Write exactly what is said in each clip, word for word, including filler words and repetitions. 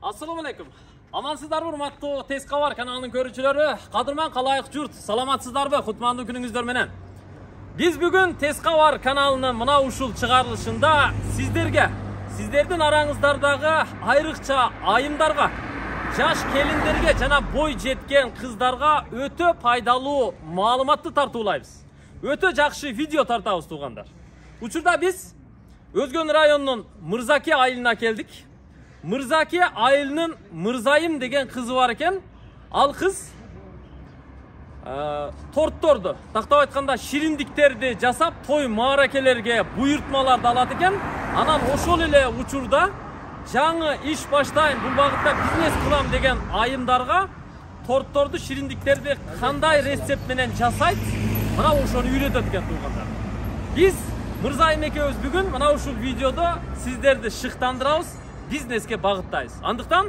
Assalamu alaikum. Amansızlar urmatlı Tezka var kanalının görücüleri. Kadırman kalayık jurt. Salamatсыздар be kutmandı gününüzдөр menen. Biz bugün Tezka var kanalının mına uşul çıkarılışında sizlerge, sizlerden arаңыздардагы айрыкча айымдарга, жаш келиндерге жана бой жеткен кыздарга өтө пайдалуу маалыматты тартуулайбыз. Өтө жакшы видео тартабыз туугандар. Учурда биз Өзгөн районунун Мырзаке айылына келдик. Мырзаке айылынын Мырзайым деген кызы бар экен. Ал кыз тортторду, тактап айтканда шириндиктерди жасап, той мааракелерге буйртмаларды алат экен. Анан ошол эле учурда жаңы иш баштайм, бул багытта бизнес кылам деген айымдарга тортторду, шириндиктерди кандай рецепт менен жасайт, мына ошону үйрөтөт экен туугандар. Биз Мырзайым экөөбүз бүгүн мына ушул видеодо сиздерди шыктандырабыз, бизнеске багыттайбыз. Андыктан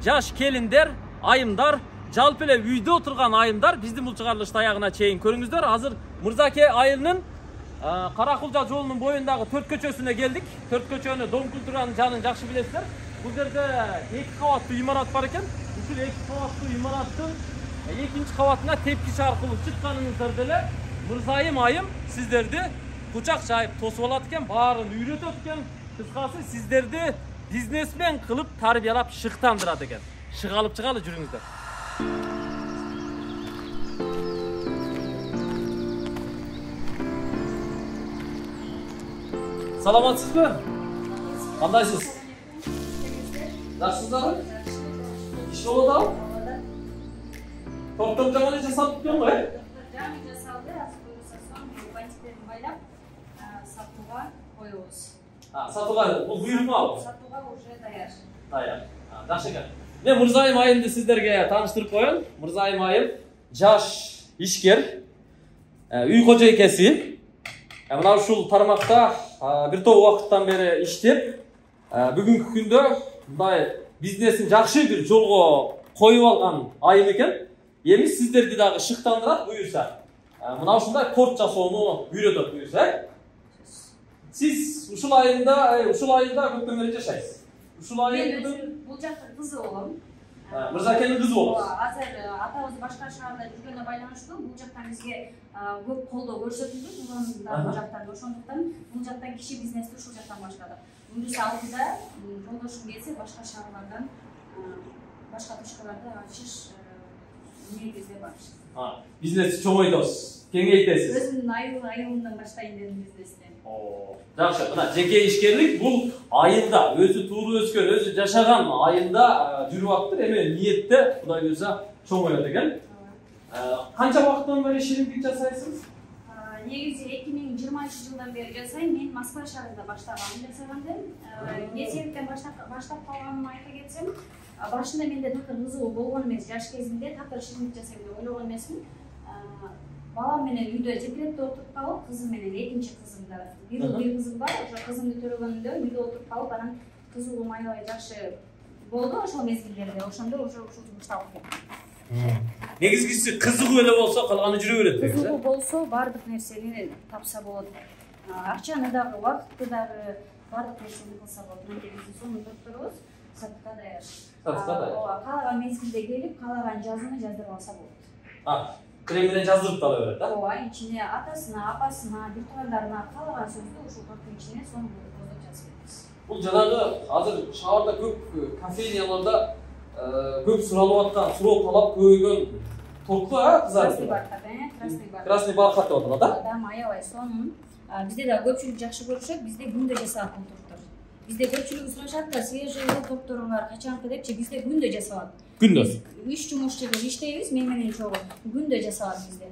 жаш келиндер, айымдар, жалпы эле үйдө отурган айымдар биздин бул чыгарылышты аягына чейин көрүңүздөр. Азыр Мырзаке айылынын Каракулжа жолунун боюндагы төрт көчөсүнө келдик. төрт көчөнү Дом культуранын жанын жакшы билесиздер. Бул жерде эки кабаттуу имарат бар экен. Ушул эки кабаттуу имараттын экинчи кабатына тепкич аркылуу чыкканыңыздарда эле Мырзайым айым сиздерди кучак жайып тосуп алат экен, баарын үйрөтөт экен. Кыскасы сиздерди бизнесмен кылып тарбиялап шыктандырат экен. Шык алып чыгалы, жүрүңүздөр. Саламатсызбы? Кандайсыз? Жакшысыздарбы? Иш болуп атабы? Топтоп жаман жасап кеткен го, э? Жаңы жасалды, азыр буюрса соң бантиктерин байлап сатууга коебуз. А, сатууга бул буйрукмабы? Сатууга уже даяр. Даяр. Жакшы экен. Мен Мырзайым айымды сиздерге тааныштырып коеюн. Мырзайым айым жаш ишкер, үй кожойкеси. Мына ушул тармакта бир топ убакыттан бери иштеп, бүгүнкү күндө мындай бизнесин жакшы бир жолго коюп алган айым экен. Эми сиздерди дагы шыктандырат буюрса. Мына ушундай торт жасоону үйрөтөт буюрса. Сиз ушул айылда, ушул айылда көптөн бери жашайсыз. Ушул айылда бул жакта кызы болом. Мырзакенин кызы болосуз. Азыр атабыз башка шаарда жүргөнүнө байланыштуу бул жактан бизге көп колдоо көрсөтүлдү, бул жактан. Ошондуктан бул жактан киши бизнести ушул жактан баштадык. Буюрса алдыда жолдошум келсе башка шаарлардан, башка точкаларда ачыш негизде бар. Бизнести чоңойтосуз, кеңейтесиз. Өзүмдүн айылымдан баштайын дедим бизнести. Жакшы, мына жеке ишкерлик бул айылда, өзү тууруп өскөн, өзү жашаган айылда жүрүп атыптыр. Эми ниетте Кудай буйрса чоңоет экен. Канча убакыттан бери шириндик жасайсыз? Негизи эки миң жыйырманчы жылдан бери жасайм. Мен Москва шаарында баштагам жасагандым. Эмне себептен баштап калганымды айта кетсем, башында менде такыр кызыгуу болгон эмес, жаш кезимде такыр шириндик жасайм деп ойлогон эмесмин. Балам менен үйдө декретте отуруп калып, кызым менен экинчи кызымда бир уул бир кызым бар, ошо кызымды төрөгөнүндө үйдө отуруп калып, анан кызыгуум аябай жакшы болду ошол мезгилдерде. Ошондо уже ушул жумушту алып кеттим. Негизгиси кызыгуу эле болсо калганы жүрө берет деген. Кызыгуу болсо баардык нерсени тапса болот. Акчаны дагы, убакытты дагы, баардык нерсени кылса болот. Негизи сонун докторубуз сатка даяр. Сатка даяр. Ооба, каалаган мезгилде келип, каалаган жазууну жаздырып алса болот. Крем менен жаздырып да ала берет, да? Ооба, ичине атасына, апасына, бир туугандарына каалаган сөздү ушул торттун ичине сонун кылып жазып беребиз. Бул жанагы азыр шаарда көп кофейнияларда көп суралып аткан, суроо талап көбөйгөн тортту, а, кыздар? Красный бархат, э, красный бархат. Красный бархат деп аталат, да? Адам аябай сонун. Бизде да көпчүлүк жакшы көрүшөт, бизде күндө жасалат бул торттор. Бизде көпчүлүк сурашат да, свежий тортторуңар качанкы депчи, бизде күндө жасалат. Күндө? Иш жумуш жерде иштейбиз, мен менен чогуу. Күндө жасалат бизде.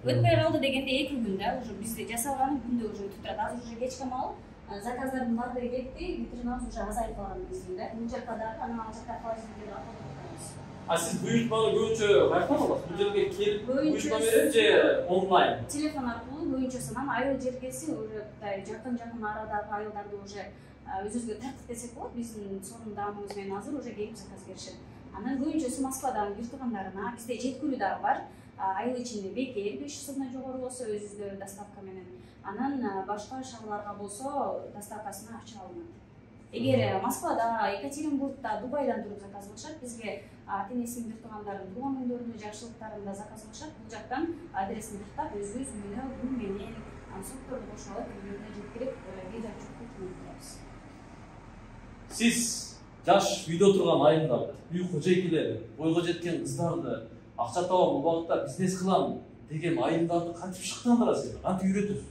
Өтпөй калды дегенде эки күн да, уже бизде жасалганы күндө уже өтүп турат. Азыр уже кечке маал заказдардын баардыгы кетти, витринабыз уже азайып калган мезгилде. Бул жакта дагы, анан ал жакта холодильникте дагы токтотобуз. А сиз буйртманы көбүнчө кайдан аласыз? Бул жерге келип буйртма берип же онлайн? Телефон аркылуу көбүнчөсүнөн айыл жергеси уже жакын-жакын арадагы айылдарды уже өзүбүзгө тартиптесек болот. Биздин сонун даамыбыз менен азыр уже келип заказ беришет. Анан көбүнчөсү Москвадан бир туугандарына, бизде жеткүлүү дагы бар. Айыл ичинде бекер беш жүз сомдон жогору болсо өзүбүздө доставка менен. Анан башка шаарларга болсо доставкасына акча алынат. Эгер Москвада, Екатеринбургда, Дубайдан туруп заказ кылышат, бизге ата-энесинин бир туугандарын тууган күндөрүндө, жакшылыктарында заказ кылышат. Бул жактан адресин тактап өзүбүз үйүнө гүл менен сортторду кошуп алып үйүнө жеткирип видео чыккырып турабыз. Сиз жаш үйдө турган айымдарды, үй кожойкелери, бойго жеткен кыздарды акча табам, бул багытта бизнес кылам деген айымдарды кантип шыктандырасыз, кантип үйрөтөсүз?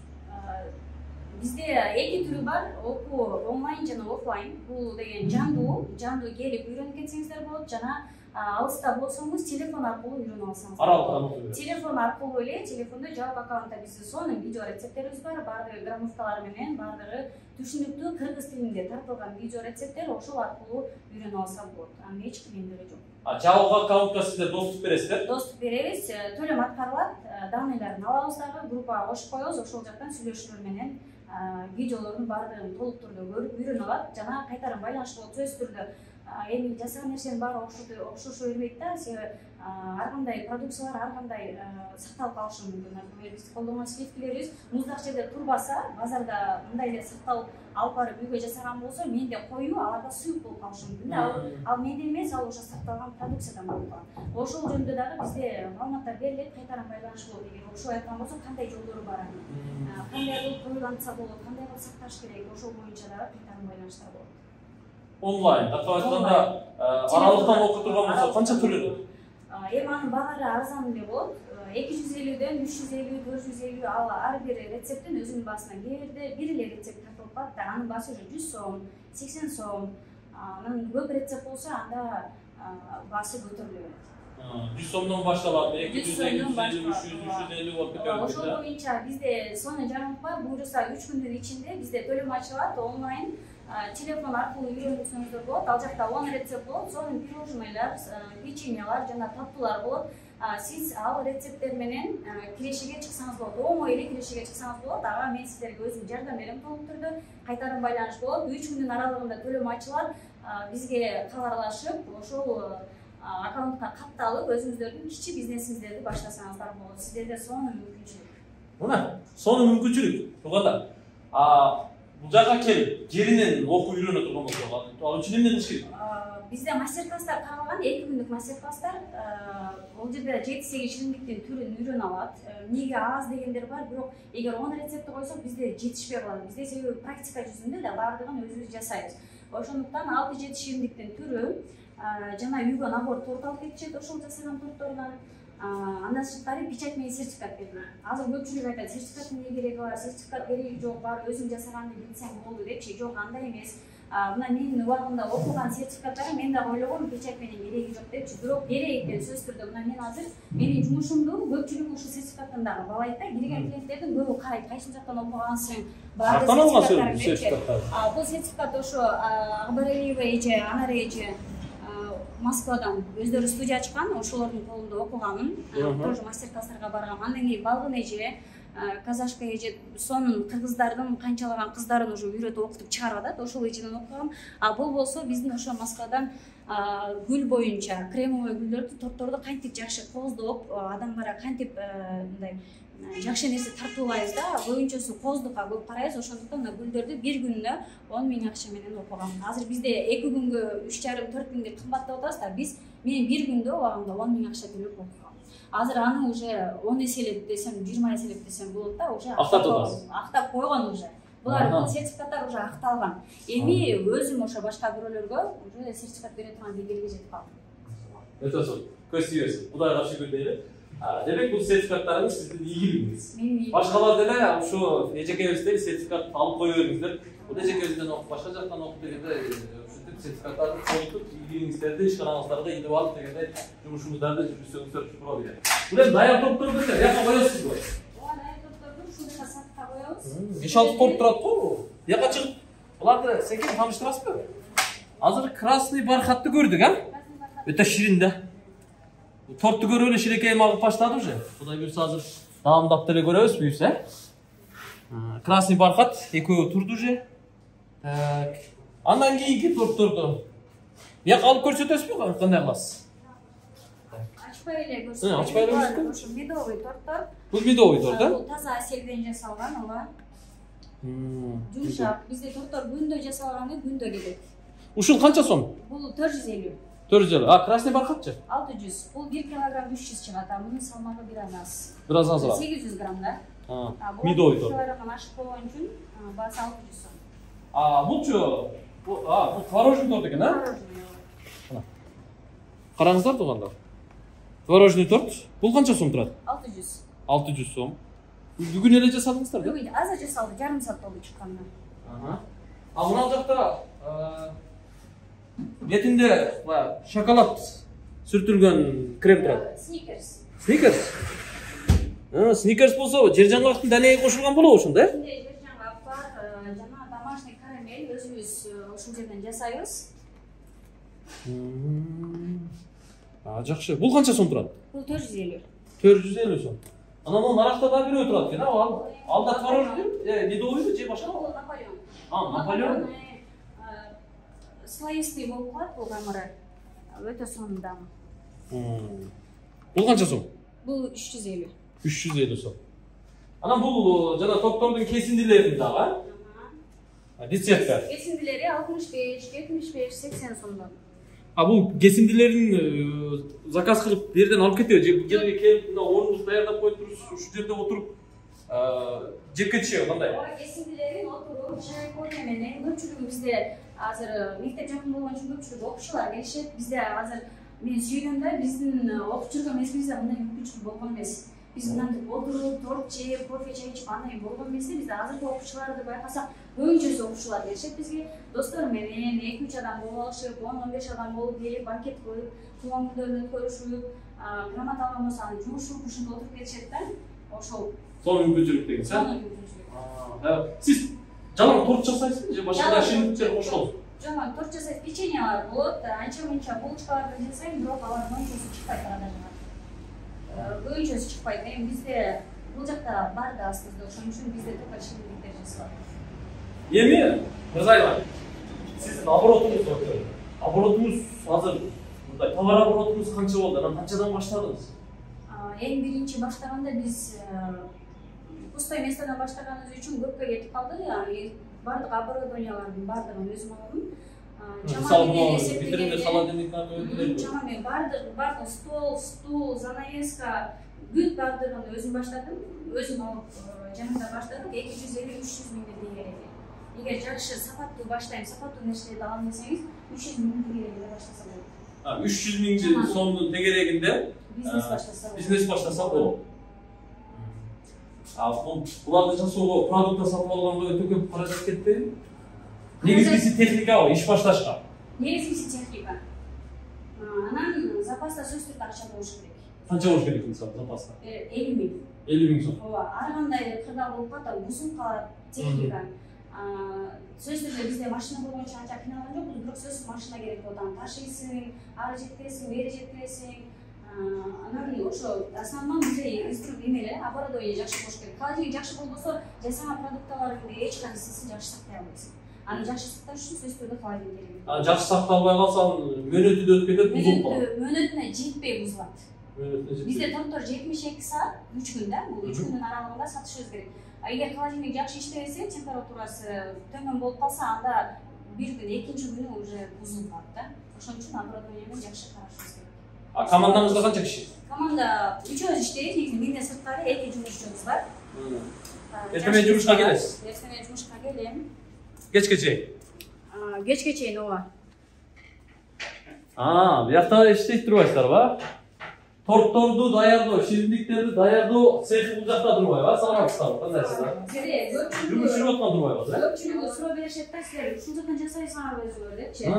Бизде эки түрү бар, окуу онлайн жана офлайн. Бул деген жандуу, жандуу келип үйрөнүп кетсеңиздер болот, жана алыста болсоңуз телефон аркылуу үйрөнүп алсаңыз болот. Телефон аркылуу эле, телефондо жабык аккаунтта биздин сонун видео рецепттерибиз бар, баардыгы граммовкалар менен, баардыгы түшүнүктүү кыргыз тилинде тартылган видео рецепттер, ошол аркылуу үйрөнүп алса болот. Анын эч кыйындыгы жок. А жабык аккаунтка сиздер доступ бересиздер? Доступ беребиз, төлөм аткарылат, данныйларын алабыз дагы, группага кошуп коебуз, ошол жактан сүйлөшүүлөр менен видеолордун баардыгын толук түрдө көрүп үйрөнүп алат, жана кайтарым байланыш болот сөзсүз түрдө. Эми жасаган нерсенин баары окшошо бербейт да, себеби ар кандай продукциялар ар кандай сакталып калышы мүмкүн. Например, биз колдонгон сливкилерибиз муздак жерде турбаса, базарда мындай эле сакталып алып барып үйгө жасаган болсо, менде коюу аларда суюк болуп калышы мүмкүн. Ал менде эмес, ал уже сакталган продукциядан болуп калат. Ошол жөнүндө дагы бизде маалыматтар берилет, кайтарым байланыш болот. Эгер ошол айткан болсо, кандай жолдору бар, кандай кылып коюлантса болот, кандай кылып сакташ керек, ошол боюнча дагы кайтарым байланыштар болот. Онлайн, тартып айтканда, аралыктан окуп турган болсо канча төлөнөт? Эми анын баары арзан эле болот. эки жүз элүүдөн үч жүз элүү, төрт жүз элүү, ал ар бир рецепттин өзүнүн баасына. Кээде бир эле рецепт тартылып калат да, анын баасы уже жүз сом, сексен сом. Анан көп рецепт болсо, анда баасы көтөрүлө берет. жүз сомдон башталат, эки жүз, эки жүз элүү, үч жүз, үч жүз элүү болуп кетет. Ошол боюнча бизде сонун жаңылык бар. Буюрса үч күндүн ичинде бизде төлөм ачылат, онлайн телефон аркылуу үйрөнүңүздөр болот. Ал жакта он рецепт болот, сонун пирожнойлар, печеньялар жана таттуулар болот. Сиз ал рецепттер менен кирешеге чыксаңыз болот. Оңой эле кирешеге чыксаңыз болот. Ага мен сиздерге өзүм жардам берем толук түрдө. Кайтарым байланыш болот. үч күндүн аралыгында төлөм ачылат. Бизге кабарлашып, ошол аккаунтка катталып, өзүңүздөрдүн кичи бизнесиңиздерди баштасаңыздар болот. Сиздерде сонун мүмкүнчүлүк. Мына, сонун мүмкүнчүлүк. Туганда, бул жака келип, жеринен окуп үйрөнө турган болсо, ал үчүн эмне кылыш керек? Бизде мастер-класстар каралган, эки күндүк мастер-класстар. Бул жерде жети сегиз шириндиктин түрүн үйрөнүп алат. Эмнеге аз дегендер бар, бирок эгер он рецептти койсок, бизде жетишпей калат. Бизде себеби практика жүзүндө да баардыгын өзүбүз жасайбыз. Ошондуктан алты жети шириндиктин түрү жана үйгө набор торт алып кетишет, ошол жасаган тортордон. Андан сырткары печать менен сертификат берилет. Азыр көпчүлүк айтат, сертификаттын эмне кереги бар, сертификат кереги жок, баары өзүң жасаганды билсең болду депчи. Жок, андай эмес. Мына менин убагымда окуган сертификаттары мен дагы ойлогом печать менен кереги жок депчи. Бирок керек экен сөзсүз түрдө. Мына мен азыр менин жумушумду көпчүлүк ушул сертификаттан дагы баалайт да. Кирген клиенттердин көбү карайт, кайсыл жактан окугансың, баары сертификаттар. Бул сертификат ошо Акбаралиева эже, Анар эже Москвадан өздөрү студия ачкан, ошолордун колунда окуганмын. Тоже мастер-класстарга баргам. Андан кийин Балгын эже, Казашка эже сонун кыргыздардын канчалаган кыздарын уже үйрөтүп окутуп чыгарып атат. Ошол эжеден окугам. А бул болсо биздин ошо Москвадан гүл боюнча кремовый гүлдөрдү, торторду кантип жакшы кооздоп, адамдарга кантип мындай жакшы нерсе тартуулайбыз да, боюнчосу кооздукка көп карайбыз. Ошондуктан гүлдөрдү бир күнүнө он миң акча менен окугам. Азыр бизде эки күнгө үч жарым төрт миң деп кымбаттап атабыз да, биз мен бир күндө убагында он миң акча төлөп окугам. Азыр аны уже он эселеп десем, жыйырма эселеп десем болот да, уже актап койгон уже. Булар сертификаттар уже акталган. Эми өзүм ошо башка бирөөлөргө уже сертификат бере турган деңгээлге жетип калдым. Өтө сонун. Көз тийбесин. Кудайга шүгүр дейли. Демек бул сертификаттарыңыз сиздин ийгилигиңиз. Башкалар деле ушу эжекебиздей сертификат алып кое бериңиздер. Бул эжекебизден окуп, башка жактан окуп дегенде ушинтип сертификаттарды колдонуп, ийгилигиңиздерди ишканаңыздарды илип алып дегенде жумушуңуздарды жүргүзсөңүздөр туура келет. Бул эми даяр топторду жака коесузбу? Ооба, даяр топторду ушундай сатка коебуз. беш алты топ турат го. Жака чыгып, буларды секен тааныштырасызбы? Азыр красный бархатты көрдүк, а? Өтө ширин да. Тортты көрүп эле шилекейим агып баштады уже. Кудай буйрса азыр даамдап деле көрөбүз буйрса. Красный бархат экөө турду уже. Так. Андан кийинки торторду бияка алып көрсөтөсүзбү, кандай кыласыз? Ачпай эле көрсөтөбүз. Ачпай эле. Ушу медовый торттор. Бул медовый торт, да? Бул таза аселден жасалган, ооба. Жумшак. Бизде торттор күндө жасалганы күндө кетет. Ушул канча сом? Бул төрт жүз элүү. төрт жүз элүү. А, красный бархатчы? алты жүз. Бул бир килограмм үч жүз чыгат. Мунун салмагы бир аз аз. Бир аз азыраак. сегиз жүз грамм да. А, медовый торт. килограммдан ашык болгон үчүн баасы алты жүз сом. А, булчу? А, бул творожный торт экен, а? Творожный. Караңыздар туугандар. Творожный торт. Бул канча сом турат? алты жүз. алты жүз сом. Бүгүн эле жасадыңыздар да? Бүгүн азыр жасалды, жарым саат болду чыкканына. Ага. А мына жакта бетинде шоколад сүртүлгөн крем турат. Сникерс. Сникерс? А, Сникерс болсо, жер жаңгактын данеги кошулган болобу ошондо, э? Ичинде жер жаңгак бар, жана домашний карамель өзүбүз ушул жерден жасайбыз. А, жакшы. Бул канча сом турат? Бул төрт жүз элүү. төрт жүз элүү сом. Анан могу наракта да бирөө турат экен, а? Алда творожный, э, медовый же башка? Бул Наполеон. А, Наполеон. Слоистый болуп калат бул камыры. Өтө сонун. Бул канча сом? Бул үч жүз элүү. үч жүз элүү сом. Анан бул жана тортордун кесиндилери дагы, а? Рецепттер. Кесиндилери алтымыш беш, жетимиш беш, сексен сомдон. А бул кесиндилерин заказ кылып бу жерден алып кетеби? Же бул жерге келип, мына орунду даярдап коюп туруп, ушул жерде отуруп жеп кетишеби кандай? Ооба, кесиндилерин отуруп, чай кофе менен көпчүлүгү бизде азыр мектеп жакын болгон үчүн көпчүлүк окуучулар келишет. Бизде азыр мен сүйгөндө биздин окуп жүргөн мезгилибизде мындай мүмкүнчүлүк болгон эмес. Биз мынтип отуруп, торт жеп, кофе чай ичип андай болгон эмес. Бизде азыркы окуучуларды байкасак, көбүнчөсү окуучулар келишет бизге. Достор менен эки үч адам болуп алышып, он он беш адам болуп келип, банкет коюп, туулган күндөрүн өткөрүшүп, грамота алган болсо аны жумушуп, ушунда отуруп кетишет да. Ошол Сонун мүмкүнчүлүк деген, сонун мүмкүнчүлүк. А, сиз жалаң торт жасайсызбы же башка да шириндиктер кошосузбу? Жок, торт жасайт, печеньялар болот, анча-мынча булочкаларды жасайм, бирок алар көбүнчөсү чыкпайт арада. Көбүнчөсү чыкпайт. Эми бизде бул жакта бар да азбызда, ошон үчүн бизде только шириндиктер жасалат. Эми, мырзайлар, сиздин оборотуңуз өтө. Оборотуңуз азыр мындай товар оборотуңуз канча болду? Анан канчадан баштадыңыз? Эң биринчи баштаганда биз пустой местодон баштаганыбыз үчүн көпкө кетип калды. Бардык оборудованиялардын бардыгын өзүм алдым. Мисалы, витринде холодильниктарды өтүлөбү? Чамамен бардык, бардык стол, стул, занавеска, бүт бардыгын өзүм баштадым. Өзүм алып жанымда баштадым. эки жүз элүү үч жүз миңден тегерек. Эгер жакшы сапаттуу баштайм, сапаттуу нерселерди алам десеңиз, үч жүз миңден тегерегинде баштаса болот. А, үч жүз миң сомдун тегерегинде бизнес баштаса болот. Бизнес баштаса болот. А буларды жасоого, продукт сатып алганга өтө көп каражат кетпеби? Негизгиси техникабы, иш башташка. Негизгиси техника. Анан запаста сөзсүз түрдө акча болуш керек. Канча болуш керек мисалы запаста? элүү миң. элүү миң сом. Ооба, ар кандай кырдаал болуп калат, бузулуп калат техника. Сөзсүз түрдө бизде машина болгон үчүн анча кыйналган жокпуз, бирок сөзсүз машина керек болот. Аны ташыйсың, ары жеткиресиң, бери жеткиресиң. Анан ошо основном бизде инструмент эмеле, оборудование жакшы болуш керек. Холодильник жакшы болбосо, жасаган продукталарыңды эч кайсысын жакшы сактай албайсың. Аны жакшы сакташ үчүн сөзсүз түрдө холодильник керек. А жакшы сакталбай калсаң, мөөнөтү да өтүп кетет, бузулуп калат. Мөөнөтүнө жетпей бузулат. Мөөнөтүнө жетпей. Бизде торттор жетимиш эки саат, үч күн да, бул үч күндүн аралыгында сатышыбыз керек. Эгер холодильник жакшы иштебесе, температурасы төмөн болуп калса, анда бир күн, экинчи күнү уже бузулуп калат да. Ошон үчүн оборудованияны жакшы карашыбыз керек. А командаңызда канча киши? Команда үчөөбүз иштейбиз, негизи менден сырткары эки жумушчубуз бар. Эртең жумушка келесиз? Эртең жумушка келем. Кечке чейин? Кечке чейин, ооба. А, биякта иштейт турбайсыздарбы? Тортторду даярдоо, шириндиктерди даярдоо цехи бул жакта турбайбы? Саламатсыздарбы? Кандайсыздар? Жере, Жұмыс жүрүп аткан турбайбы? Көпчүлүгү суроо беришет да, силер ушул жактан жасайсыңарбы өзүңөр депчи.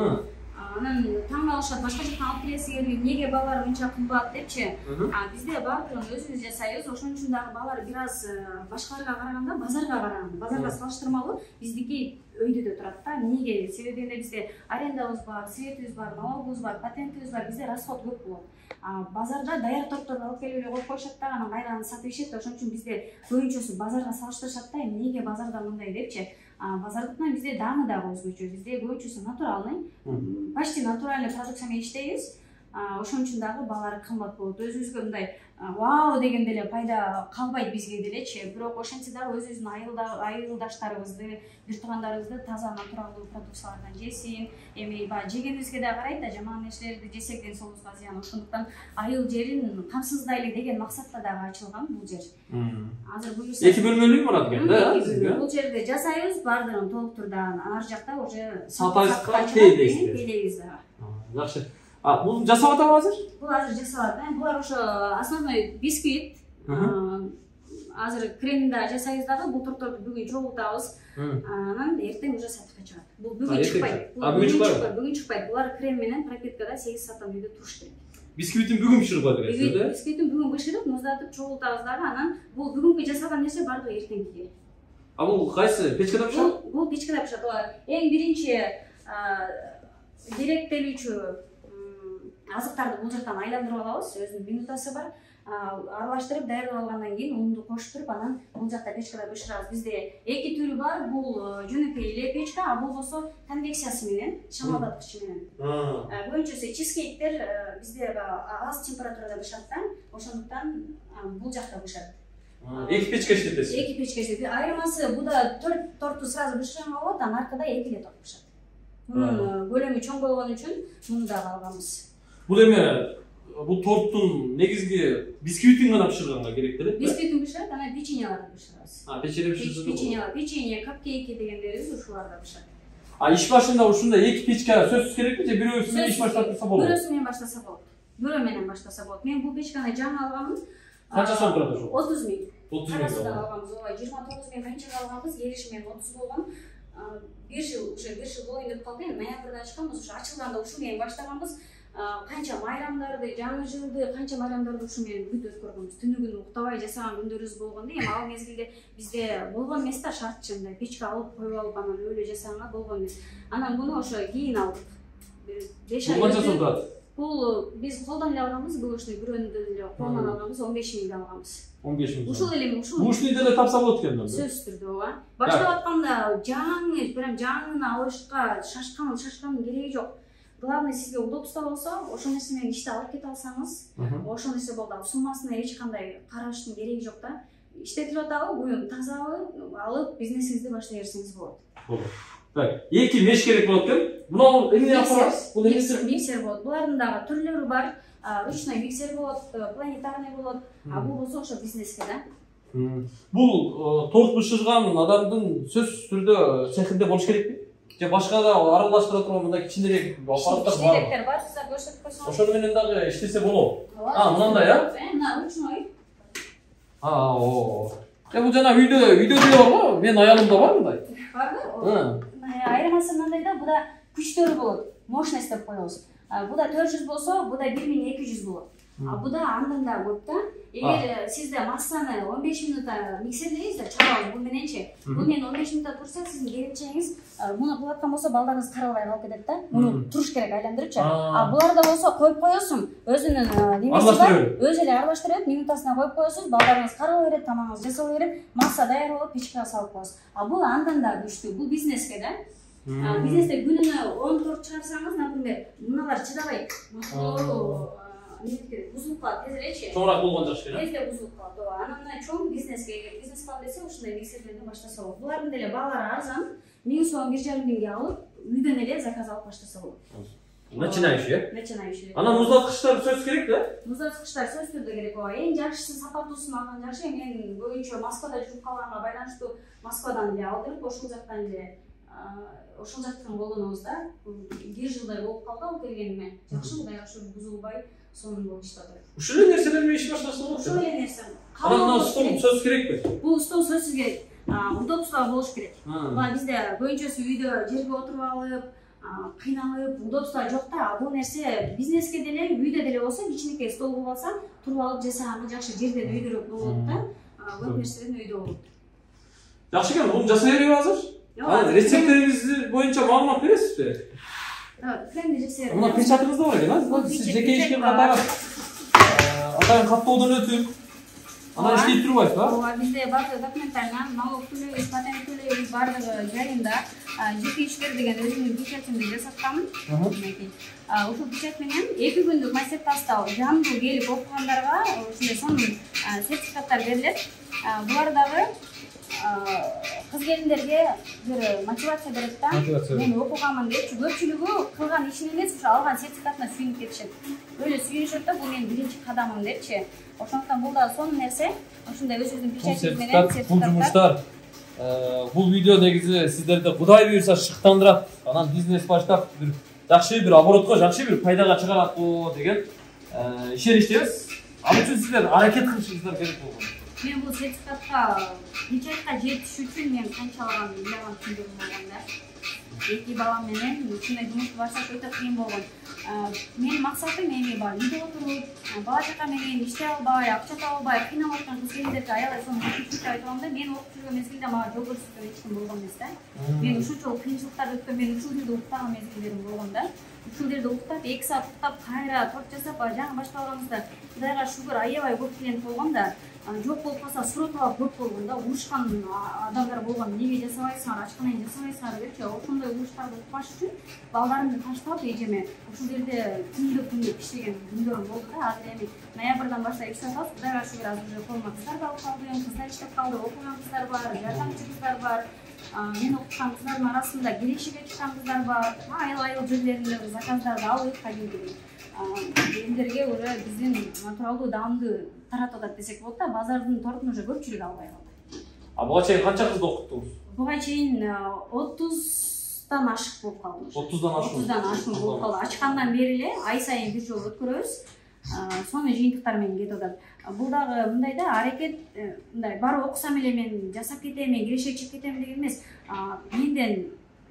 Анан таң калышат, башка жактан алып келесиңерби, эмнеге баалар мынча кымбат депчи. А бизде баардыгын өзүбүз жасайбыз, ошон үчүн дагы баалар бир аз башкаларга караганда базарга караганда, базарга салыштырмалуу биздики өйдө турат да. Эмнеге? Себеби бизде арендабыз бар, светибиз бар, налогубуз бар, патентибиз бар, бизде расход көп болот. Базарда даяр тортторду алып келип эле коюп коюшат да, анан кайра сатып ишет. Ошон үчүн бизде көбүнчөсү базарга салыштырышат да, эмнеге базарда мындай депчи. Базардыкынан бизде даамы дагы өзгөчө. Бизде көбүнчөсү натуралный, почти натуральный продукция менен иштейбиз. ошон үчүн дагы баалары кымбат болот. Өзүбүзгө мындай вау деген деле пайда калбайт бизге делечи. Бирок ошентсе дагы өзүбүздүн айылдаштарыбызды, бир туугандарыбызды таза натуралдуу продукциялардан жесин. Эми баягы жегенибизге да карайт да, жаман нерселерди жесек денсаулыгыбызга зыян. Ошондуктан айыл жерин камсыздайлы деген максатта дагы ачылган бул жер. Азыр буюрса эки бөлмөлүү болот экен да. Бул жерде жасайбыз, баардыгын толук турда ар жакта уже сатайбызга тийдейсиз дагы. Жакшы. А, бул жасап атабы азыр? Бул азыр жасалат. Булар ошо основной бисквит. Азыр кремин да жасайбыз дагы, бул торторду бүгүн чогултабыз. Анан эртең уже сатыкка чыгат. Бул бүгүн чыкпайт. А, бүгүн чыкпайбы? Бүгүн чыкпайт. Булар крем менен пропиткада сегиз сааттан үйдө туруш керек. Бисквитин бүгүн бышырып атабыз, да? Бисквитин бүгүн бышырып, муздатып чогултабыз дагы, анан бул бүгүнкү жасалган нерсе бардыгы эртеңкиге. А бул кайсы? Печкада бышат? Бул печкада бышат. Эң биринчи керектелүүчү азыктарды бул жактан айландырып алабыз. Өзүнүн минутасы бар. Аралаштырып даярдап алгандан кийин унду коштуруп, анан бул жакта печкада бышырабыз. Бизде эки түрү бар. Бул жөнөкөй эле печка, а бул болсо конвекциясы менен, шамалдаткычы менен. Көбүнчөсү чизкейктер бизде аз температурада бышат да. Ошондуктан бул жакта бышат. Эки печка иштетесиз. Эки печка иштетип. Айырмасы буда төрт торту сразу бышырганга болот, анан аркада эки эле торт бышат. Мунун көлөмү чоң болгон үчүн муну дагы алганбыз. Бул эме бул торттун негизги бисквитин гана бышырганга керек деле. Бисквитин бышырат, анан печеньяларды бышырабыз. А, печенье бышырсыз. Печенье, печенье, капкейки дегендерибиз ушуларда бышат. А иш башында ушундай эки печка сөзсүз керекпи же бирөөсү менен иш баштап турса болобу? Бирөөсү менен баштаса болот. Бирөө менен баштаса болот. Мен бул печканы жаңы алганмын. Канча сом турат ошо? отуз миң. отуз миң Карасыдан алганбыз. Ооба, жыйырма тогуз миң канчага алганбыз? Келишим менен отуз болгон. бир жыл, уже бир жыл болоюн деп калды. Ноябрда ачканбыз, ушу ачылганда ушу менен баштаганбыз. Канча майрамдарды, жаңы жылды, канча майрамдарды ушу менен бүт өткөргөнбүз. Түнү күнү уктабай жасаган күндөрүбүз болгондо, эми ал мезгилде бизде болгон эмес да, шартчы мындай печка алып коюп алып анан өлө жасаганга болгон эмес. Анан муну ошо кийин алдык. беш ай. Канча сом турат? Бул биз колдон эле алганбыз, бул ушуну бирөөнү деле колдон алганбыз, он беш миңге алганбыз. он беш миң. Ушул эле ушул. Ушуну деле тапса болот экен да. Сөзсүз түрдө ооба. Баштап атканда жаңы, прям жаңыны алышка шашкан, шашкандын кереги жок. Главное сизге удобство болсо, ошол нерсе менен ишти алып кете алсаңыз, ошол нерсе болду. Суммасына эч кандай караштын кереги жок да. Иштетип атабы, буюн тазабы алып бизнесиңизди баштай берсеңиз болот. Болот. Так, эки меш керек болот экен. Муну эмне апарабыз? Бул миксер, миксер болот. Булардын дагы түрлөрү бар. Ручной миксер болот, планетарный болот. А бул болсо ошо бизнеске да. Бул торт бышырган адамдын сөзсүз түрдө цехинде болуш керекпи? Же башка да аралаштыра турган мындай кичинерээк аппараттар барбы? Кичинерээктер бар, сиздер көрсөтүп койсоңуз. Ошону менен дагы иштесе болобу? А, мындай а? Мына ручной. А, о. Э, бул жана үйдө, үйдө деле барбы? Менин аялымда бар мындай. Барбы? Айырмасы мындай да, буда күчтөрү болот. Мощность деп коебуз. Буда төрт жүз болсо, буда бир миң эки жүз болот. А буда андан да көп да. Эгер сизде массаны он беш минутта миксерлейсиз да, чабабыз бул мененчи. Бул менен он беш минутта турса, сиздин келинчегиңиз муну кылып аткан болсо, балдарыңыз каралбай калып кетет да. Муну туруш керек айландырыпчы. А буларда болсо коюп коесуң, өзүнүн немеси бар, өзү эле аралаштырып, минутасына коюп коесуз, балдарыңыз карала берет, тамагыңыз жасала берет, масса даяр болот, печкага салып коесуз. А бул андан да күчтүү, бул бизнеске да. Бизнесте күнүнө он торт чыгарсаңыз, например, муналар чыдабайт. Бузулуп калат, тез элечи. Чоңураак болгон жакшы эле. Тезде бузулуп калат, ооба. Анан чоң бизнеске, эгер бизнес кылам десе, ушундай миксерлерден баштаса болот. Булардын деле баалары арзан, миң сом, бир жарым миңге алып, үйдөн эле заказ алып баштаса болот. Начинающий, э? Начинающий. Анан муздаткычтар сөз керек да? Муздаткычтар сөз түрдө керек, ооба. Эң жакшысы сапаттуусун алган жакшы. Мен көбүнчө Москвада жүрүп калганга байланыштуу Москвадан эле алдырып, ошол жактан эле ошол жактан болгонубузда бир жылдай болуп калды ал келгениме. Жакшы, Кудай ошо бузулбай сонун болуп иштеп. Ушул эле нерселер менен иш баштаса болот. Ушул эле нерсе. Анан стол сөз керекпи? Бул стол сөзсүз керек. Удобство болуш керек. Мына бизде көбүнчөсү үйдө жерге отуруп алып, кыйналып, удобство жок да. Бул нерсе бизнеске деле, үйдө деле болсо, кичинекей стол кылып алса, туруп алып жасаганга жакшы. Жерде үйдөрөөк болот да. Көп нерседен үйдө болот. Жакшы экен, муну жасай береби азыр? Анан рецептериңиз боюнча маалымат бересизби? Кремди жасай берем. Мына печатыңызда бар экен, а? Сиз жеке ишке катары атайын каттоодон өтүп, Анан иштей турбайсыз ба? Ооба, бизде бардыгы документально, налог төлөйбүз, патент төлөйбүз, бардыгы жайында. Жеке ишкер деген өзүмдүн печатымды жасаткам. Ушул печат менен эки күндүк мастер-класста жандуу келип окугандарга ушундай сонун сертификаттар берилет. Булар дагы кыз келиндерге бир мотивация берет да. Мен окуганмын депчи, көпчүлүгү кылган ишин эмес, ушу алган сертификатына сүйүнүп кетишет. Өлө сүйүнүшөт да, бул менин биринчи кадамым депчи. Ошондуктан бул да сонун нерсе. Ушундай өзүбүздүн печатыбыз менен сертификат. Бул жумуштар, бул видео негизи сиздерди Кудай буйрса шыктандырат. Анан бизнес баштап бир жакшы бир оборотко, жакшы бир пайдага чыгарат го деген ишеничтебиз. Ал үчүн сиздер аракет кылышыңыздар керек болгон. Мен бул сертификатка печатка жетиш үчүн мен канчалаган миллион түндүрүм болгон да. Эки балам менен ушундай жумушту башташ өтө кыйын болгон. Менин максатым эми бар, үйдө отуруп, бала чака менен иштей албай, акча таба албай, кыйналып аткан кыз келиндерге аябай сонун мүмкүнчүлүк айтып атам да. Мен окуп жүргөн мезгилде мага жол көрсөткөн эч ким болгон эмес да. Мен ушунчалык кыйынчылыктарды өткөн, мен ушул жерде уктаган мезгилдерим болгон да. Ушул жерде уктап, эки саат уктап, кайра торт жасап, жаңы башталганыбызда Кудайга шүгүр аябай көп клиент болгон да. Жок болуп калса суроталар көп болгон да. Урушкан адамдар болгон. Эмнеге жасабайсыңар, ачканен жасабайсыңар депчи. Ошондой уруштарды укпаш үчүн балдарымды таштап эжеме ушул жерде күндө күндө иштеген күндөрүм болду да. Азыр эми ноябрдан баштап иштеп атабыз. Кудайга шүгүр, азыр уже колума кыздар да алып калдым, кыздар иштеп калды, окуган кыздар бар, жардамчы кыздар бар. Мен окуткан кыздардын арасында келешиге чыккан кыздар бар. Айыл-айыл жерлеринде заказдарды алып кадимги элдерге уже биздин натуралдуу даамды таратып атат десек болот да. Базардын тортун уже көпчүлүк албай калды. А буга чейин канча кызды окуттуңуз? Буга чейин отуздан ашык болуп калдым. отуздан ашык. отуздан ашык болуп калды. Ачкандан бери эле ай сайын бир жолу өткөрөбүз. Сону жыйынтыктар менен кетип атат. Бул дагы мындай да, аракет мындай барып окусам эле мен жасап кетем, мен кирешек чыгып кетем деген эмес. Менден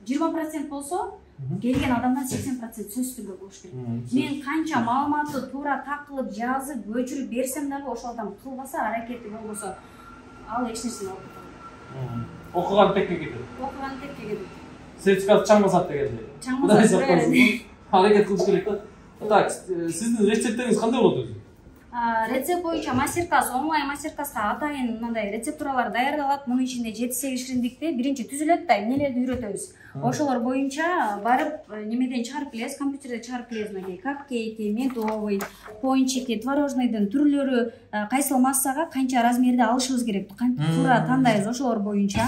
жыйырма процент болсо, келген адамдан сексен процент сөзсүз түрдө болуш керек. Мен канча маалыматты туура так кылып жазып, көчүрүп берсем дагы ошол адам кылбаса, аракети болбосо, ал эч нерсени алып кетет. Окуган текке кетет. Окуган текке кетет. Сертификат чаңбасат дегенде. Чаңбасат. Аракет кылыш керек да. Так, сиздин рецепттериңиз кандай болот өзү? Рецепт боюнча мастер-класс, онлайн мастер-класска атайын мындай рецептуралар даярдалат. Мунун ичинде жети сегиз шириндикте биринчи түзүлөт да, эмнелерди үйрөтөбүз. Ошолор боюнча барып немеден чыгарып келебиз, компьютерде чыгарып келебиз. Мынакей капкейки, медовый, пончики, творожныйдын түрлөрү, кайсыл массага канча размерде алышыбыз керек, туура тандайбыз ошолор боюнча.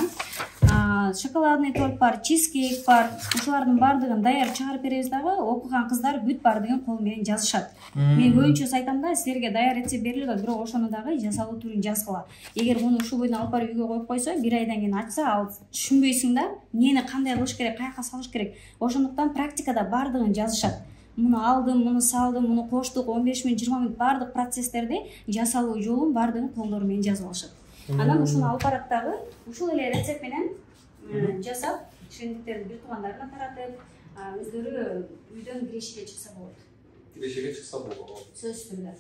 Шоколадный торт бар, чизкейк бар. Ушулардын баардыгын даяр чыгарып беребиз дагы, окуган кыздар бүт баардыгын кол менен жазышат. Мен көбүнчө айтам да, силерге даяр рецепт берилет, бирок ошону дагы жасалуу түрүн жазгыла. Эгер муну ушул бойдон алып барып үйгө коюп койсо, бир айдан кийин ачса, ал түшүнбөйсүң да, эмнени кандай кылыш керек, каяка салыш керек. Ошондуктан практикада баардыгын жазышат. Муну алдым, муну салдым, муну коштук, он беш мүнөт, жыйырма мүнөт баардык процесстерди жасалуу жолун баардыгын колдору менен жазып алышат. Анан ушуну алып барат дагы, ушул эле рецепт менен жасап, шириндиктерди бир туугандарына таратып, өздөрү үйдөн кирешиге чыкса болот. Кирешиге чыкса болот. Сөзсүз түрдө.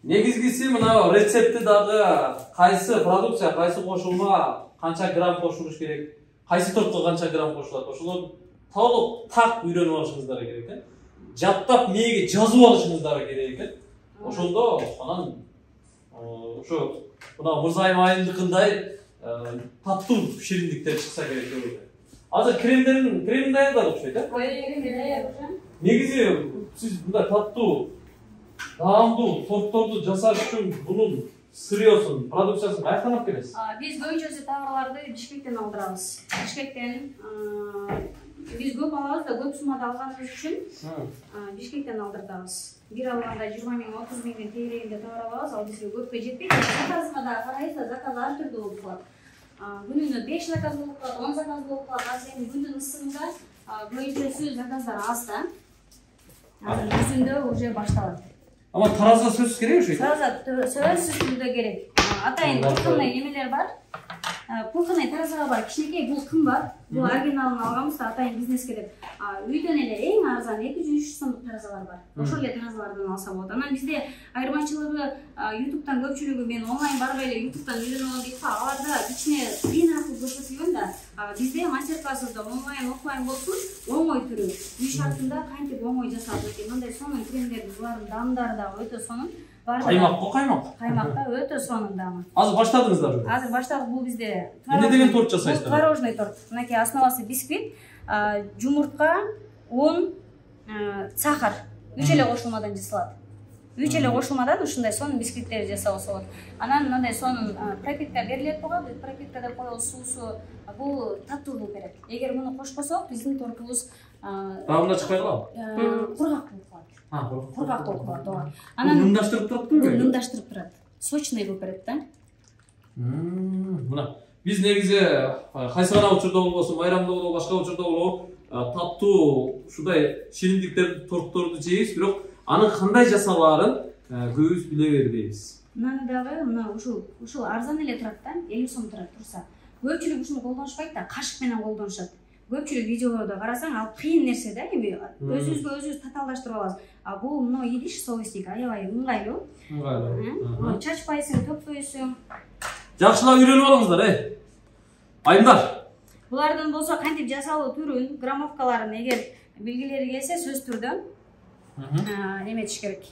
Негизгиси мына рецепти дагы кайсы продукция, кайсы кошулма, канча грамм кошулуш керек, кайсы тортко канча грамм кошулат, ошолор толук так үйрөнүп алышыңыздар керек экен. Жаттап мээге жазып алышыңыздар керек экен. Ошондо анан ошо мына Мырзайым айымдыкындай таттуу шириндиктер чыкса керек деп ойлойм. Азыр кремдерин крем даярдап окшойт, э? Ой, крем даяр уже. Негизи сиз мындай таттуу, даамдуу тортторду жасаш үчүн бунун сырьёсун, продукциясын каяктан алып келесиз? Биз көбүнчөсү товарларды Бишкектен алдырабыз. Бишкектен биз көп алабыз да, көп суммада алганыбыз үчүн Бишкектен алдырабыз. Бир алганда жыйырма миң, отуз миңдин тегерегинде товар алабыз, ал бизге көпкө жетпейт. Заказга да карайбыз да, заказ ар түрдүү болуп калат. Күнүнө беш заказ болуп калат, он заказ болуп калат. Азыр эми күндүн ысыгында көбүнчөсү заказдар аз да. Азыр күзүндө уже башталат. Ама тараза сөзсүз керек ошо. Тараза сөзсүз түрдө керек. Атайын кыркындай немелер бар. Пулканай таразага бар, кичинекей бул кымбат. Бул оригиналын алганбыз да, атайын бизнеске деп. Үйдөн эле эң арзан эки жүз үч жүз сомдук таразалар бар. Ошол эле таразалардан алса болот. Анан бизде айырмачылыгы YouTube'дан көпчүлүгү мен онлайн барбай эле YouTube'дан үйрөнүп алам дейт да. Аларда ичине плин аркылуу көрсөтүлгөн да. Бизде мастер-классыбызда онлайн, офлайн болсун, оңой түрү. Үй шартында кантип оңой жасалат экен. Мындай сонун кремдер, булардын дамдары да өтө сонун. Каймак го, каймак. Каймак да өтө сонун дамы. Азыр баштадыңыздарбы? Азыр баштадык. Бул бизде эмне деген торт жасайсыздар? Творожный торт. Мынакей основасы бисквит, жумуртка, un, сахар. Үч эле кошулмадан жасалат. Үч эле кошулмадан ушундай сонун бисквиттерди жасабыз болот. Анан мындай сонун пропитка берилет буга. Бул пропиткада коюл суусу бул таттуулук берет. Эгер муну кошпосок, биздин тортубуз дагында чыкпай калабы? Кургак болуп калат. А, кургак. Кургак болуп калат, ооба. Анан нымдаштырып туратпы? Бул нымдаштырып турат. Сочный болуп берет да. Мына биз негизи кайсы гана учурда болбосун, майрамда болобу, башка учурда болобу, таттуу ушундай шириндиктерди, тортторду жейбиз, бирок анын кандай жасалаарын көбүбүз биле бербейбиз. Мынаны дагы мына ушул ушул арзан эле турат да, элүү сом турат турса. Көпчүлүк ушуну колдонушпайт да, кашык менен колдонушат. Көпчүлүк видеолордо карасаң, ал кыйын нерсе да, эми өзүбүзгө өзүбүз татаалдаштырып алабыз. А бул мына идиш соустик аябай ыңгайлуу. Ыңгайлуу. Чачпайсың, төкпөйсүң. Жакшылап үйрөнүп алыңыздар, э. Айымдар. Булардын болсо кантип жасалуу түрүн, граммовкаларын эгер билгилери келсе сөз түрдө эметиш керек.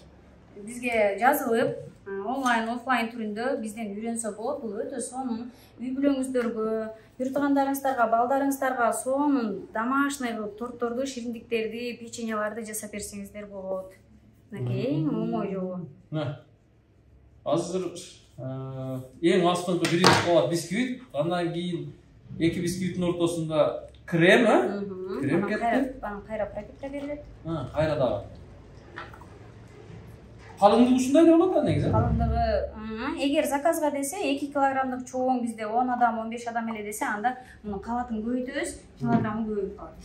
Бизге жазылып, онлайн, офлайн түрүндө бизден үйрөнсө болот. Бул өтө сонун. Үй бүлөңүздөргө, бир туугандарыңыздарга, балдарыңыздарга сонун домашний тортторду, шириндиктерди, печеньяларды жасап берсеңиздер болот. Мынакей эң оңой жолу. Азыр эң астыңкы биринчи кабат бисквит, андан кийин эки бисквиттин ортосунда крем, а? Крем кетти. Анан кайра пропитка берилет. А, кайра дагы. Калыңдыгы ушундай эле болот да негизи. Калыңдыгы, эгер заказга десе эки килограммдык чоң бизде он адам, он беш адам эле десе, анда муну кабатын көбөйтөбүз, килограммы көбөйүп калат.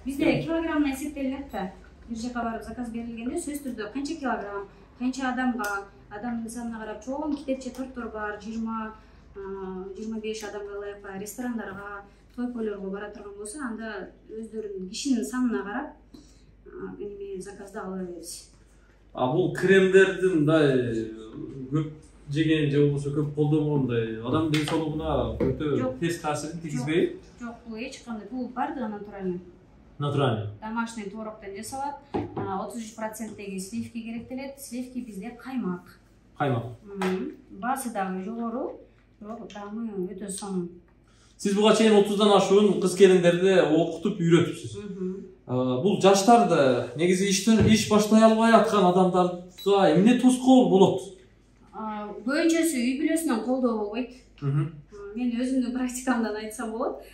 Бизде килограмм эсептелинет да. Бир жака барып заказ берилгенде сөз түрдө канча килограмм, канча адамга, адамдын санына карап чоң китепче торттор бар, жыйырма жыйырма беш адамга ылайык ресторандарга, той-пойлорго бара турган болсо, анда өздөрүнүн кишинин санына карап эми заказды ала беребиз. А бул кремдердин мындай көп жеген же болбосо көп колдонгондой адамдын ден соолугуна өтө терс таасирин тийгизбейби? Жок, бул эч кандай. Бул бардыгы натуральный. Натуральный. Домашний твороктон жасалат. отуз үч проценттеги сливки керектелет. Сливки бизде каймак. Каймак. Баасы дагы жогору, бирок дамы өтө сонун. Сиз буга чейин отуздан ашуун кыз келиндерди окутуп үйрөтүпсүз. Бул жаштарды негизи иштен иш баштай албай аткан адамдарга эмне тоскоол болот? Көбүнчөсү үй бүлөсүнөн колдоо болбойт. Мен өзүмдүн практикамдан айтсам болот.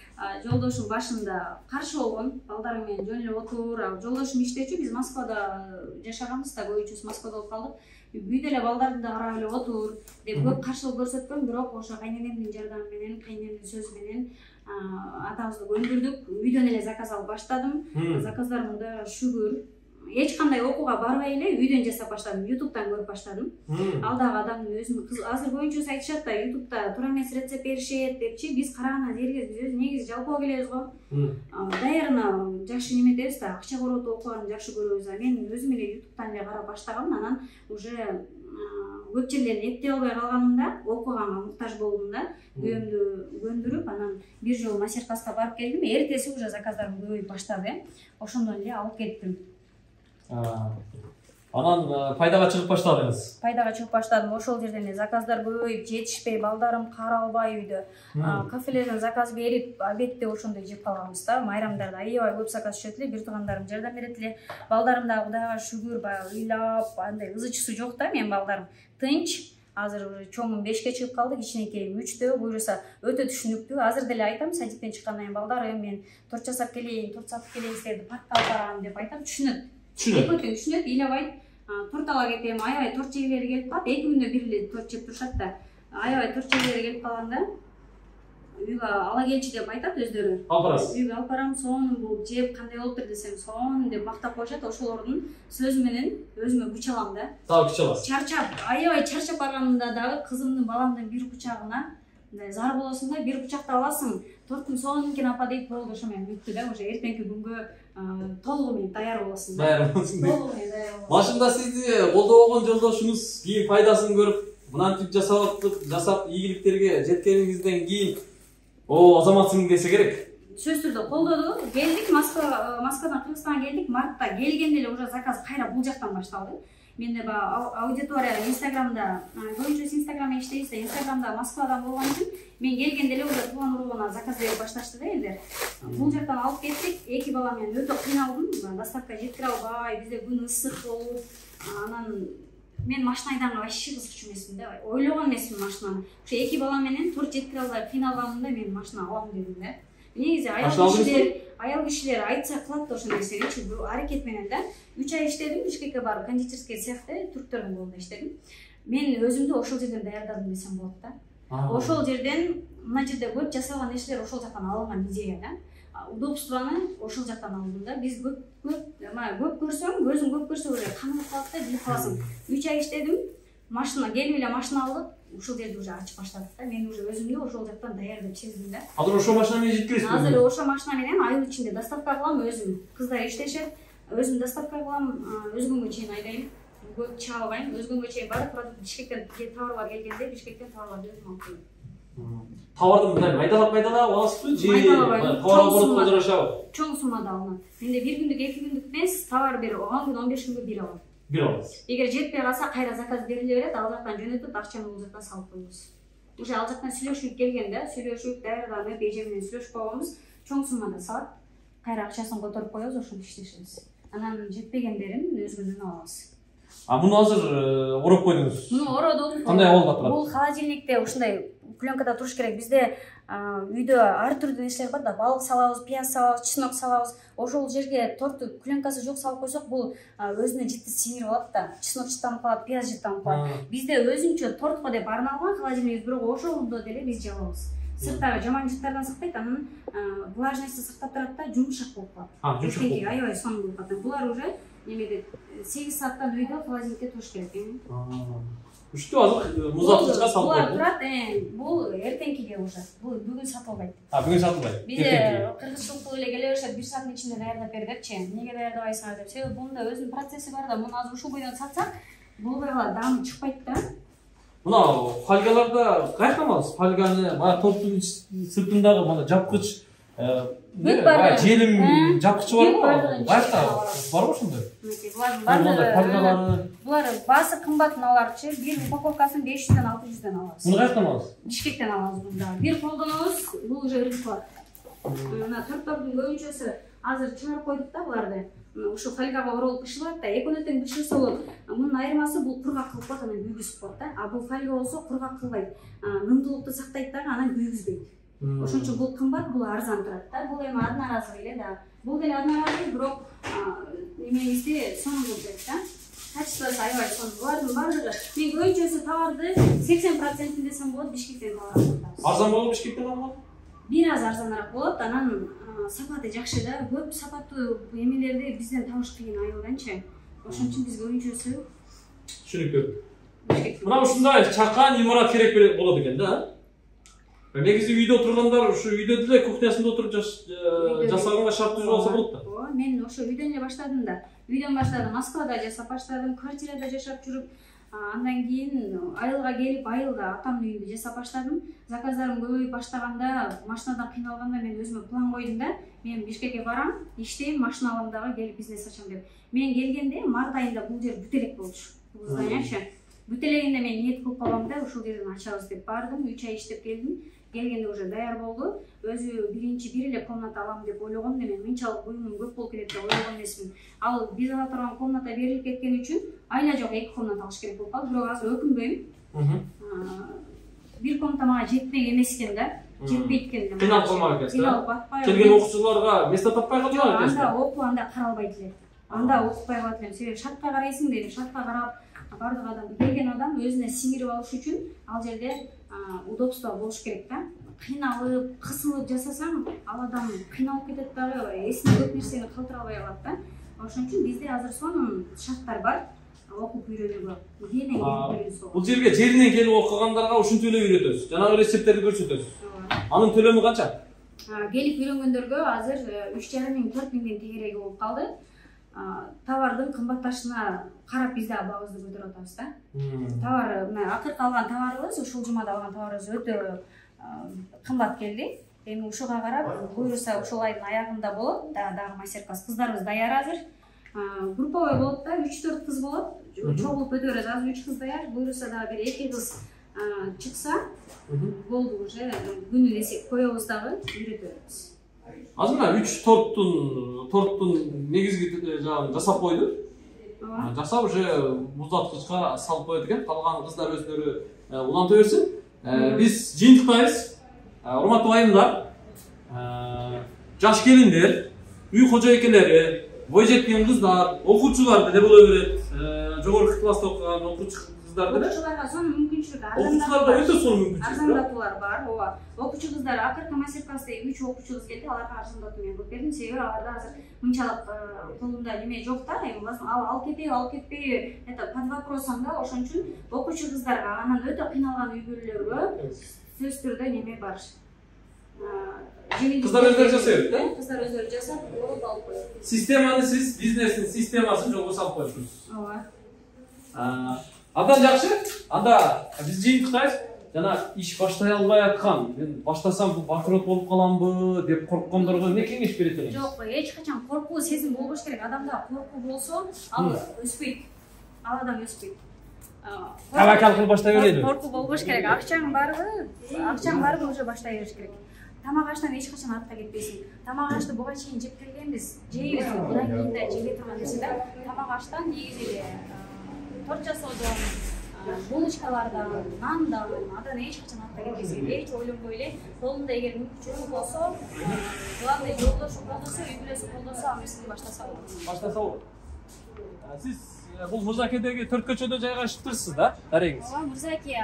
Жолдошум башында каршы болгон, балдарым менен жөн эле отур. Жолдошум иштечү, биз Москвада жашаганбыз да, көбүнчөсү Москвада болуп калдык. Үйдө эле балдарды да карап эле отур деп көп каршылык көрсөткөм, бирок ошо кайненемдин жардамы менен, кайненемдин сөзү менен атабызды көндүрдүк. Үйдөн эле заказ алып баштадым. Заказдарымда шүгүр. Эч кандай окууга барбай эле үйдөн жасап баштадым. ютубтан көрүп баштадым. Ал дагы адамдын өзүнүн кыз азыр көбүнчөсү айтышат да, ютубта туура эмес рецепт беришет депчи. Биз караган жерге биз негизи жалпоо келебиз го. Даярына жакшы неметебиз да, акча коротуп окуганды жакшы көрөбүз. А мен өзүм эле ютубтан эле карап баштагам, анан уже көп жерлерин эптей албай калганымда, окуганга муктаж болдумда, күйөөмдү көндүрүп, анан бир жолу мастер-класска барып келдим. Эртеси уже заказдарым көбөйүп баштады. Ошондон эле алып кеттим. Анан пайдага чыгып баштадыңыз. Пайдага чыгып баштадым. Ошол жерден эле заказдар көбөйүп, жетишпей, балдарым каралбай үйдө. Кафелерден заказ берип, обедте ошондой жеп калганбыз да. Майрамдарда аябай көп заказ түшөт эле, бир туугандарым жардам берет эле. Балдарым дагы Кудайга шүгүр, баягы ыйлап, андай ызычысы жок да, менин балдарым. Тынч. Азыр чоңум бешке чыгып калды, кичинекейим үчтө, буюрса өтө түшүнүктүү. Азыр деле айтам, садиктен чыккандан кийин балдарым, мен торт жасап келейин, торт сатып келейин, силерди паркка алып барам деп айтам, түшүнөт. Экөө тең түшүнөт, ыйлабайт. Торт ала кетем, аябай торт жегилери келип калат. эки күндө бир эле торт жеп турушат да. Аябай торт жегилери келип калганда үйгө ала келчи деп айтат өздөрү. Алып барасыз. Үйгө алып барам, сонун бул жеп кандай болуптур десем, сонун деп мактап коюшат. Ошолордун сөзү менен өзүмө күч алам да. Дагы күч аласыз. Чарчап, аябай чарчап барганымда дагы кызымдын, баламдын бир кучагына мындай зар болосуң да, бир кучакта аласың. Торттун сонун экен апа дейт, болду, ошо менен бүттү да. Уже эртеңки күнгө толугу менен даяр болосуң да. Даяр болосуң. Толугу менен даяр болосуң. Башында сизди колдобогон жолдошуңуз кийин пайдасын көрүп, мынантип жасап, жасап ийгиликтерге жеткениңизден кийин О, азаматсың десе керек. Сөзсүз түрдө колдоду. Келдик, Москва, Москвадан Кыргызстанга келдик. Мартта келгенде эле уже заказ кайра бул жактан башталды. Менде баягы аудитория Инстаграмда, көбүнчөсү Инстаграмда иштейбиз да, Инстаграмда Москвадан болгон үчүн мен келгенде эле уже тууган уругуна заказ берип башташты да элдер. Бул жактан алып кеттик. Эки бала менен өтө кыйналдым. Доставка жеткире албай, бизде күн ысык болуп, анан мен машина айдаганга вообще кызыкчу эмесмин да. Ойлогон эмесмин машинаны. Ошо эки бала менен төрт жеткире албай кыйналганымда мен машина алам дедим да. Негизи аял кишилер, аял кишилер айтса кылат да ошол нерсени, бул аракет менен да. үч ай иштедим, Бишкекке барып, кондитерский цехте түрктөрдүн колунда иштедим. Мен өзүмдү ошол жерден даярдадым десем болот да. Ошол жерден, мына жерде көп жасалган нерселер ошол жактан алынган идея да. Удобствону ошол жактан алдым да. Биз көп көп, мына көп көрсөң, көзүң көп көрсө уже канып калат да, билип каласың. үч ай иштедим, машина келип эле машина алдык. Ушул жерди уже ачып баштадык да. Мен уже өзүмдү ошол жактан даяр деп сездим да. Азыр ошол машина менен жеткиресизби? Азыр ошол машина менен айыл ичинде доставка кылам, өзүм. Кыздар иштешет, өзүм доставка кылам, өзгөнгө чейин айдайм. Көп чыга албайм, өзгөнгө чейин барып, Бишкектен товарлар келгенде Бишкектен товарларды өзүм алып келем. Товарды мындай майдалап майдалап аласызбы же товар болуп жарашабы? Чоң суммада алынат. Менде бир күндүк, эки күндүк эмес, товар бир он күн, он беш күнгө бир алам. Бир аласыз. Эгер жетпей калса, кайра заказ бериле берет, ал жактан жөнөтүп, акчаны бул жакка салып коебуз. Уже ал жактан сүйлөшүп келгенде, сүйлөшүп, даярданып, эже менен сүйлөшүп койгонбуз, чоң суммада салат, кайра акчасын которуп коебуз, ошентип иштешебиз. Анан жетпегендерин өзгөдөн алабыз. А муну азыр ороп койдуңуз. Муну ородум. Кандай болуп атат? Бул холодильникте ушундай пленкада туруш керек. Бизде үйдө ар түрдүү нерселер бар да, балык салабыз, пияз салабыз, чеснок салабыз. Ошол жерге торту пленкасы жок салып койсок, бул өзүнө житти сиңирип алат да. Чеснок жыттанып калат, пияз жыттанып калат. Бизде өзүнчө тортко деп арналган холодильник, бирок ошолдо деле биз жабабыз. Сырттагы жаман жыттардан сактайт, анан влажностьты сактап турат да, жумшак болуп калат. А, жумшак болуп. Аябай сонун болуп калат. Булар уже немеде сегиз сааттан үйдө холодильникте туруш керек. Үчтү азыр музаткычка салып булар турат, бул эртеңкиге уже. Бул бүгүн сатылбайт. А, бүгүн сатылбайт. Бизде кыргызчылык эле келе беришет, бир сааттын ичинде даярдап бер депчи. Эмнеге даярдабайсыңар деп. Себеби бунда өзүнүн процесси бар да, муну азыр ушул бойдон сатсак, болбой калат, даамы чыкпайт да. Мына фольгаларда кайчан аласыз? Фольганы, мына торттун сыртындагы мына жапкыч, желим жапкычы барбы? Кайча барбы ошондой? Булар баасы кымбат мыналарчы, бир упаковкасын беш жүздөн алты жүздөн алабыз. Муну кайчан аласыз? Бишкектен алабыз мында. Бир колдонобуз, бул уже рынок. Мына торттордун көбүнчөсү азыр чыгарып койдук да буларды. Ушу фольгага оролуп бышылат да, экөө тең бышырса болот. Мунун айырмасы бул кургак кылып коет, анан күйгүзүп коет да. А бул фольга болсо кургак кылбайт. Нымдуулукту сактайт дагы, анан күйгүзбөйт. Ошон үчүн бул кымбат, бул арзан турат да. Бул эми одноразовый эле да. Бул деле одноразовый, бирок эмеңизде сонун болуп кетет да. Качествосы аябай сонун. Булардын баардыгы мен көбүнчөсү товарды сексен процентин десем болот, Бишкектен товар алабыз. Арзан болот Бишкектен алган? Бир аз арзаныраак болот, анан сапаты жакшы да. Көп сапаттуу эмелерди бизден табыш кыйын айылданчы. Ошон үчүн биз көбүнчөсү түшүнүктүү. Мына ушундай чакан имарат керек болот экен да. Негизи үйдө отургандар ушу үйдө деле кухнясында отуруп жасаганга шарт түзүп алса болот да. Ооба, мен ошо үйдөн эле баштадым да. Үйдөн баштадым, Москвада жашап баштадым, квартирада жашап жүрүп, андан кийин айылга келип, айылда атамдын үйүндө жашап баштадым. Заказдарым көбөйүп баштаганда, машинадан кыйналганда мен өзүмө план койдум да. Мен Бишкекке барам, иштейм, машина алам дагы, келип бизнес ачам деп. Мен келгенде март айында бул жер бүт элек болчу. Бул зданиячы. Бүт элегинде мен ниет кылып калгам да, ушул жерден ачабыз деп бардым, үч ай иштеп келдим. Келгенде уже даяр болду. Өзү биринчи бир эле комната алам деп ойлогом, мен мынчалык буюмум көп болуп кетет деп ойлогон эмесмин. Ал биз ала турган комната берилип кеткен үчүн айла жок эки комната алыш керек болуп калды. Бирок азыр өкүнбөйм. Бир комната мага жетпек эмес экен да. Жетпейт экен. Кыйналып калмак экенсиз. Кыйналып батпай. Келген окуучуларга место таппай калдыңар экенсиз. Анда окуу, анда каралбайт эле. Анда окутпай калат элем. Себеби шартка карайсың дейм, шартка карап бардык адам, келген адам өзүнө сиңирип алыш үчүн ал жерде удобство болуш керек да. Кыйналып, кысылып жасасаң, ал адам кыйналып кетет дагы, эсине көп нерсени калтыра албай калат да. Ошон үчүн бизде азыр сонун шарттар бар. Окуп үйрөнүүгө. Кээден келип үйрөнсө. Бул жерге жеринен келип окугандарга ушинтип эле үйрөтөсүз. Жанагы рецепттерди көрсөтөсүз. Анын төлөмү канча? Келип үйрөнгөндөргө азыр үч жарым миң, төрт миңден тегереги болуп калды. Товардын кымбатташына карап бизде баабызды көтөрүп атабыз да. Товар, мына акыркы алган товарыбыз, ушул жумада алган товарыбыз өтө кымбат келди. эми ушуга карап буюрса ушул айдын аягында болот дагы мастер-класс. Кыздарыбыз даяр азыр. Групповой болот да, үч төрт кыз болот. Чогулуп өтөбүз. Азыр үч кыз даяр. Буюрса дагы бир эки кыз чыкса болду, уже күнү эсеп коебуз дагы үйрөтөбүз. Азыр мына үч торттун торттун негизги жагын жасап койду. Жасап уже муздаткычка салып коет экен. Калган кыздар өздөрү уланта берсин. Биз жыйынтыктайбыз. Урматтуу айымдар, жаш келиндер, үй кожойкелери, бой жеткен кыздар, окуучулар деле боло берет. Жогорку класста окуган окуучу кыздар деле. Окуучуларга сонун мүмкүнчүлүк, окуучуларга өтө сонун мүмкүнчүлүк. Арзандатуулар бар, ооба. Окуучу кыздар акыркы мастер-класста үч окуучу кыз келди, аларга арзандатуу мен кылып бердим. Себеби аларда азыр мынчалык колунда неме жок да, эми ал алып кетеби, алып кетпейби, это под вопросом да, ошон үчүн окуучу кыздарга, анан өтө кыйналган үй бүлөлөргө сөзсүз түрдө неме бар. Кыздар өздөрү жасайбы, да? Кыздар өздөрү жасап, алып алып коет. Системаны сиз бизнестин системасын жолго салып коесуз. Ооба. Андан жакшы. Анда биз жыйынтыктайбыз. Жана иш баштай албай аткан, мен баштасам бул банкрот болуп каламбы деп корккондорго эмне кеңеш берет элеңиз? Жок, эч качан коркуу сезим болбош керек. Адамда коркуу болсо, ал өспөйт. Ал адам өспөйт. Табакал кылып баштай берели. Коркуу болбош керек. Акчаң барбы? Акчаң барбы уже баштай бериш керек. Тамак аштан эч качан артта кетпейсиң. Тамак ашты буга чейин жеп келгенбиз. Жейбиз, мындан кийин да жеге турган нерсе да. Тамак аштан негизи торт жасоодон, булочкалардан, нандан, андан эч качан артта кетпейсиң. Эч ойлонбой эле, колунда эгер мүмкүнчүлүк болсо, главный жолдошу колдосо, үй бүлөсү колдосо, ал нерсени баштаса болот. Баштаса болот. Сиз бул Мырзакедеги төрт көчөдө жайгашыптырсыз да, дарегиңиз? Ооба, Мырзаке,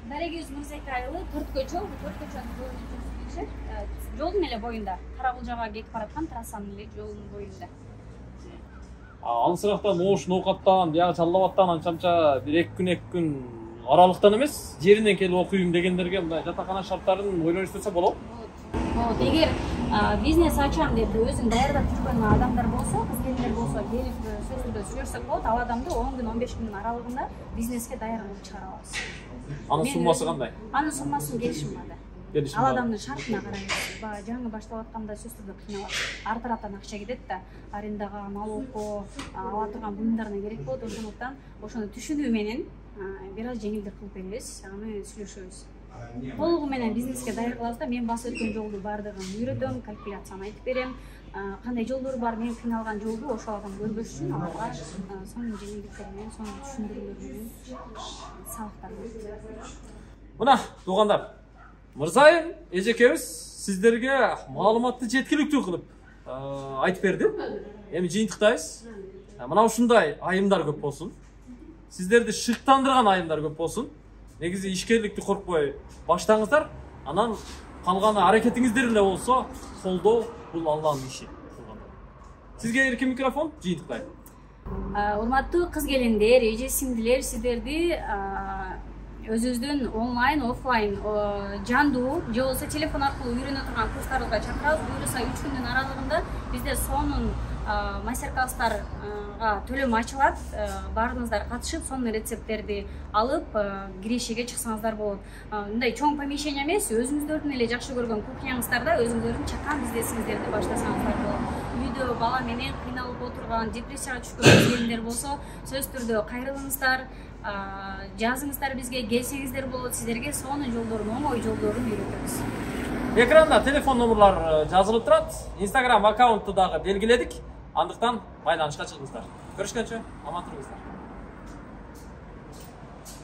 дарегибиз Мырзаке айылы төрт көчө, төрт көчөнүн боюнда жолдун эле боюнда, Каракулжага кетип бараткан трассанын эле жолунун боюнда. Алысырактан оош ноокаттан, бияга чаллабаттан анча-мынча бир эки күн эки күн аралыктан эмес, жеринен келип окуйм дегендерге мындай жатакана шарттарын ойлонуштурса болобу? Болот. Эгер бизнес ачам деп өзүн даярдап жүргөн адамдар болсо, кыз келиндер болсо, келип сөз түрдө сүйлөшсөк болот, ал адамды он күн, он беш күндүн аралыгында бизнеске даяр кылып чыгара алабыз. Анын суммасы кандай? Анын суммасын келишим бар да. Ал адамдын шартына карайбыз. Жаңы баштап атканда сөз түрдө кыйналат. Ар тараптан акча кетет да, арендага, налогко, ала турган буюмдарына керек болот. Ошондуктан ошону түшүнүү менен бир аз жеңилдик кылып беребиз, аны сүйлөшөбүз. Толугу менен бизнеске даяр кылабыз да, мен басып өткөн жолду баардыгын үйрөтөм, калькуляцияны айтып берем. Кандай жолдор бар, мен кыйналган жолду ошол адам көрбөш үчүн аларга сонун жеңилдиктер менен, сонун түшүндүрүүлөр менен сабактар беребиз. Мына, туугандар, Мырзайым эжекебиз сиздерге маалыматты жеткиликтүү кылып айтып берди. Эми жыйынтыктайбыз. Мына ушундай айымдар көп болсун. Сиздерди шыктандырган айымдар көп болсун. Негизи ишкерликти коркпой баштаңыздар. Анан калганы аракетиңиздер эле болсо, колдоо бул Алланын иши. Сизге эркин микрофон, жыйынтыктайм. Урматтуу кыз келиндер, эже сиңдилер, сиздерди өзүбүздүн онлайн, офлайн, жандуу же болбосо телефон аркылуу үйрөнө турган курстарыбызга чакырабыз. Буюрса үч күндүн аралыгында бизде сонун мастер-класстарга төлөм ачылат. Баарыңыздар катышып, сонун рецепттерди алып, кирешеге чыксаңыздар болот. Мындай чоң помещение эмес, өзүңүздөрдүн эле жакшы көргөн кухняңыздарда өзүңүздөрдүн чакан бизнесиңиздерди баштасаңыздар болот. Үйдө бала менен кыйналып отурган, депрессияга түшкөн келиндер болсо, сөз түрдө кайрылыңыздар, жазыңыздар бизге, келсеңиздер болот. Сиздерге сонун жолдорун, оңой жолдорун үйрөтөбүз. Экранда телефон номерлар жазылып турат. Instagram аккаунтту дагы белгиледик. Андыктан байланышка чыгыңыздар. Көрүшкөнчө аман туруңуздар.